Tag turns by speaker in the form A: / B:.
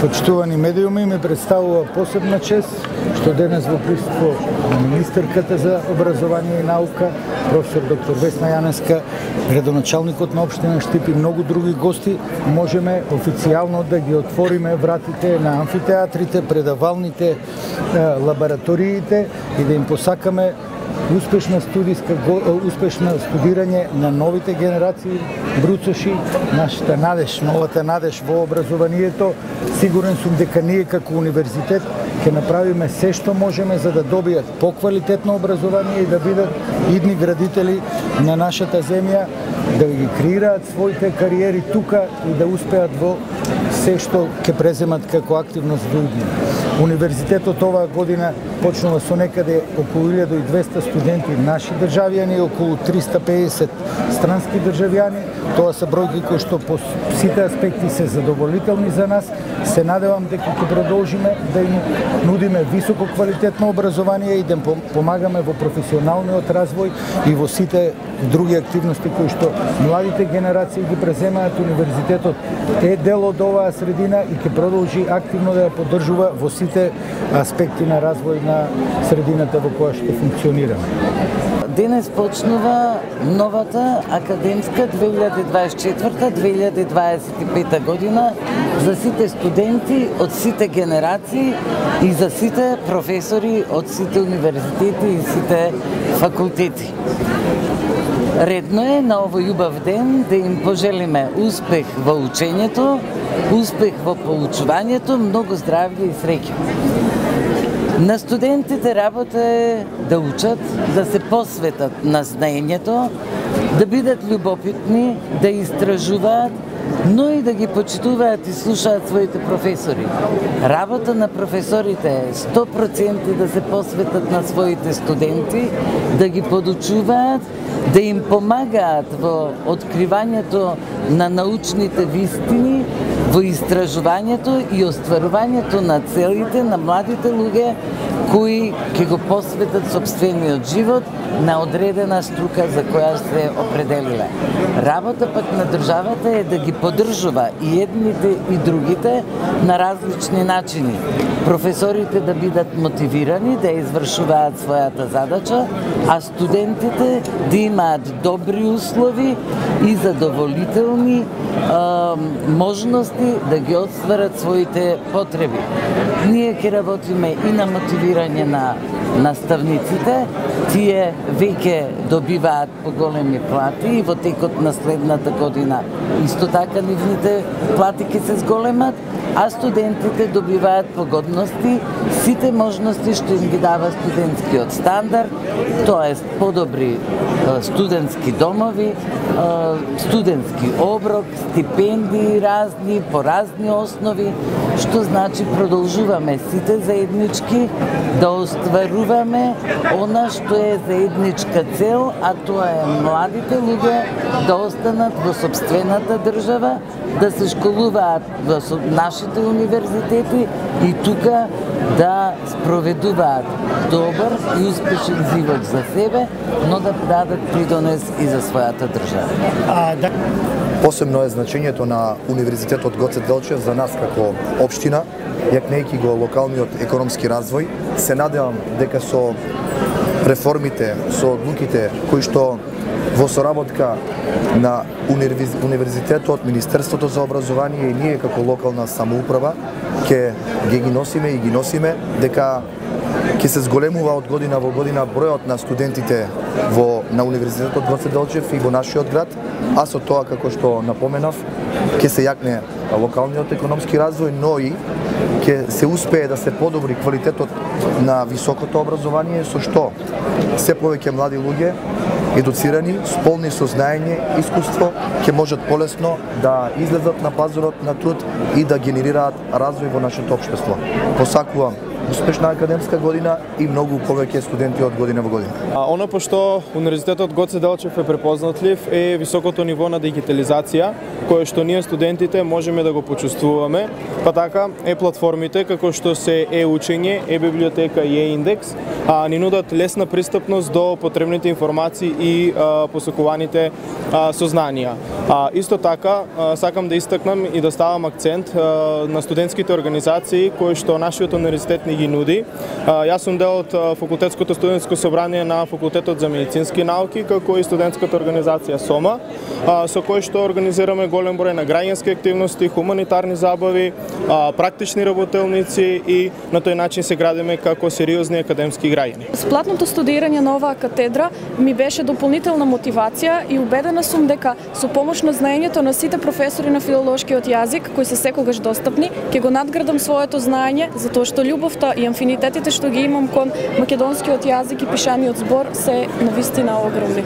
A: Почитувани медиуми, ми представува посебна чест што денес во присуство на министерката за образование и наука, професор доктор Весна Јаневска, градоначалникот на општина Штип и многу други гости, можеме официјално да ги отвориме вратите на амфитеатрите, предавалните, лабораториите и да им посакаме успешно студирање на новите генерации бруцоши, нашата надеж, новата надеж во образованието. Сигурен сум дека ние како универзитет ќе направиме се што можеме за да добијат поквалитетно образование и да бидат идни градители на нашата земја, да ги креираат своите кариери тука и да успеат во се што ќе преземат како активност во идни. Универзитетот оваа година почнува со некаде околу 1200 студенти наши државјани и околу 350 странски државјани. Тоа се бројки кои што по сите аспекти се задоволителни за нас. Се надевам дека ќе продолжиме да им нудиме високо квалитетно образование и да помагаме во професионалниот развој и во сите други активности кои што младите генерации ги преземаат. Универзитетот е дел од оваа средина и ќе продолжи активно да ја поддржува во сите аспекти на развој на средината во која што функционираме.
B: Денес почнува новата академска 2024-2025 година за сите студенти од сите генерации и за сите професори од сите универзитети и сите факултети. Редно е на овој убав ден да им пожелиме успех во учењето, успех во поучувањето, многу здравје и среќа. На студентите работа е да учат, да се посветат на знаењето, да бидат љубопитни, да истражуваат, но и да ги почитуваат и слушаат своите професори. Работа на професорите е 100% да се посветат на своите студенти, да ги подучуваат, да им помагаат во откривањето на научните вистини, во истражувањето и остварувањето на целите на младите луѓе кои ќе го посветат сопствениот живот на одредена струка за која се определиле. Работа пак на државата е да ги поддржува и едните и другите на различни начини. Професорите да бидат мотивирани да извршуваат својата задача, а студентите да имаат добри услови и задоволителни можности да ги остварат своите потреби. Ние ќе работиме и на мотивирање на наставниците, тие веќе добиваат поголеми плати и во текот на следната година исто така нивните плати ќе се зголемат, а студентите добиваат погодности, сите можности што им ги дава студентскиот стандард, тоест подобри студентски домови, студентски оброк, стипендии разни, по разни основи, што значи продолжуваме сите заеднички да остваруваме она што е заедничка цел, а тоа е младите луѓе да останат во сопствената држава, да се школуваат во нашите универзитети и тука да спроведуваат добар и успешен живот за себе, но да дадат придонес и за својата држава.
C: Посебно е значењето на Универзитетот Гоце Делчев за нас како општина, јакнејќи го локалниот економски развој. Се надевам дека со реформите, со одлуките кои што во соработка на Универзитетот, Министерството за образование и ние како локална самоуправа ќе ги носиме и ги носиме, дека ќе се зголемува од година во година бројот на студентите на Универзитетот Гоце Делчев и во нашиот град, а со тоа, како што напоменав, ќе се јакне локалниот економски развој, но и ќе се успее да се подобри квалитетот на високото образование, со што се повеќе млади луѓе едуцирани, сполни со знаење, искуство, ќе можат полесно да излезат на пазарот на труд и да генерираат развој во нашето општество. Посакувам успешна академска година и многу повеќе студенти од година во година.
D: Оно пошто Универзитетот Гоце Делчев е препознатлив е високото ниво на дигитализација, кое што ние студентите можеме да го почувствуваме, па така е платформите како што се е-учење, е-библиотека и е-индекс, ни нудат лесна пристапност до потребните информации и посекуваните сознанија. Исто така, сакам да истакнам и да ставам акцент на студентските организации кои што нашиот универзитет ни ги нуди. Јас сум дел од факултетското студентско собрание на факултетот за медицински науки, како и студентската организација СОМА, со кој што организираме голем број на граѓански активности, хуманитарни забави, практични работелници и на тој начин се градиме како сериозни академски граѓани.
E: Сплатното студирање на оваа катедра ми беше дополнителна мотивација и убедена сум дека со помош на знаењето на сите професори на филолошкиот јазик, кои се секогаш достапни, ќе го надградам своето знаење, затоа што љубовта и амфинитетите што ги имам кон македонскиот јазик и пишаниот збор се навистина огромни.